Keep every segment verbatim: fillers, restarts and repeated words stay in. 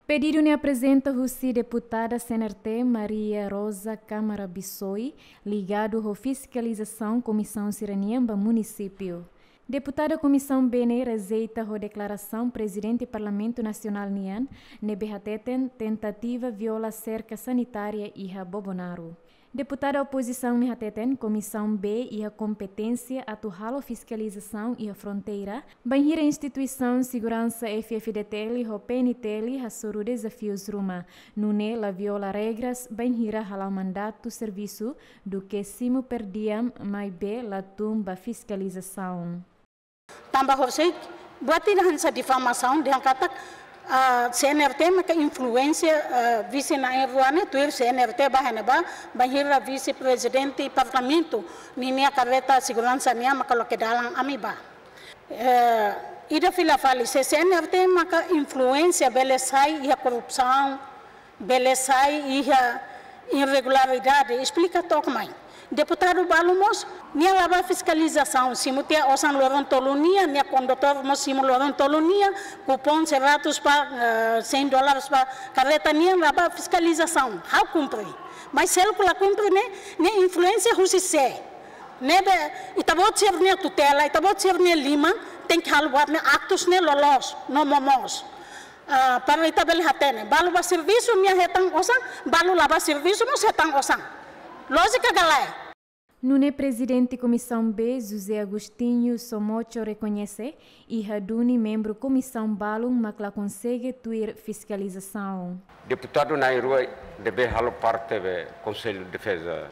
Pedidu ne'e aprezenta husi deputada C N R T Maria Rosa Câmara Bissoi, ligadu ho fiskalizasaun komisaun sira-nian ba munisípiu. Deputada Komisaun B ne'e rejeita ho deklarasaun Prezidente Parlamentu Nasionál nian, ne'ebé hateten tentativa viola serka sanitária iha Bobonaro. Deputada opozisaun ne'e hateten Komisaun B iha kompeténsia atu halo fiskalizasaun iha fronteira, bainhira instituisaun seguransa F-FDTL ho P N T L hasoru dezafius ruma, nune'e la viola regras bainhira hala'o mandatu servisu, duké simu per diem, maibé la tun ba fiskalizasaun. Tanba horiseik, buat ida hanesan difamasaun, dehan katak, ah, C N R T maka influénsia, ah, vise na'in-rua ne'e, tuir C N R T bá iha ne'ebá, bainhira vise-prezidente parlamentu ninia karreta seguransa nian maka loke dalan ami bá. Eh, ida fila fali, se C N R T maka influénsia bele sai iha korrupsaun, bele sai iha irregularidade, esplika took mai. Deputadu balu mós, nia la bá fiskalizasaun, simu tiha osan loron tolu nian, nia kondutór mós simu loron tolu nian, kupon seratus ba, eh, cem dólares ba karreta nian, la bá fiskalizasaun, ha'u kumpre. Mas seluk la kumpre ne'e, ne'e influénsia husi sé? Ne'ebé, ita-boot sira-nia tutela, ita-boot sira-nia liman, tenke halo buat ne'e aktus ne'e loloos, no momoos. Ah, para ita bele hatene, balu bá servisu nia hetan osan, balu la bá servisu mós hetan osan. Lójika ka lae? Nune'e Prezidente Komisaun B, José Agostinho Somocho rekoñese, iha duni membru komisaun balun mak la konsege tuir fiskalizasaun. Deputadu na'in-rua ne'ebé halo parte ba Konsellu Defeza,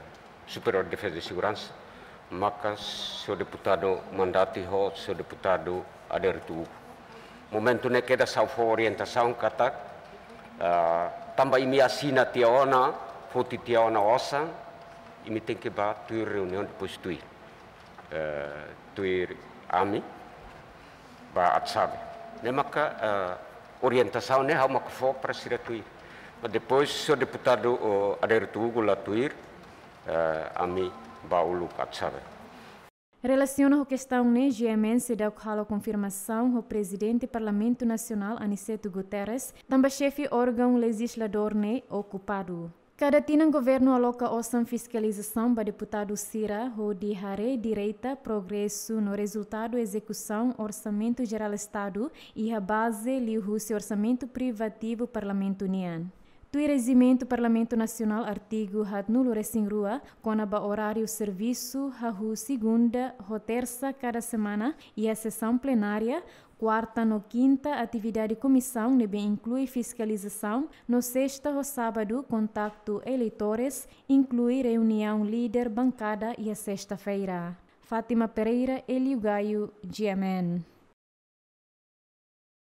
Superiór Defeza i Seguransa, maka señór deputadu Mandati ho señór deputadu Adérito Hugo. Momentu ne'e kedas ha'u fó orientasaun katak, ah, tanba imi asina tiha ona, foti tiha ona osan, imi tenke bá tuir reuniaun depois tuir, eh, tuir ami, bá atu sabe. Ne'e maka, eh, orientasaun ne'e ha'u maka fó para sira tuir. Mas depois señór deputadu, oh, Adérito Hugo la tuir, eh, ami bá uluk atu sabe. Relasiona ho kestaun ne'e, G M N seidauk halo konfirmasaun ho Prezidente Parlamentu Nasionál Aniceto Guterres, tanba xefe órgaun lejizladór ne'e okupadu. Kada tinan governu aloka osan fiskalizasaun ba deputadu sira hodi haree direta progresu no rezultadu ezekusaun Orsamentu Jerál Estadu iha baze liuhusi orsamentu privativu Parlamentu nian. Tuir rejimentu Parlamentu Nasionál, artigu haatnulu-resin-rua, kona-ba oráriu servisu, hahú segunda ho tersa kada semana iha sesaun plenária, kuarta no kinta atividade komisaun ne'ebé inklui fiskalizasaun, no sesta ho sábadu kontaktu eleitores, inklui reuniaun líder bankada iha sesta-feira. Fátima Pereira, Hélio Gaio, G M N.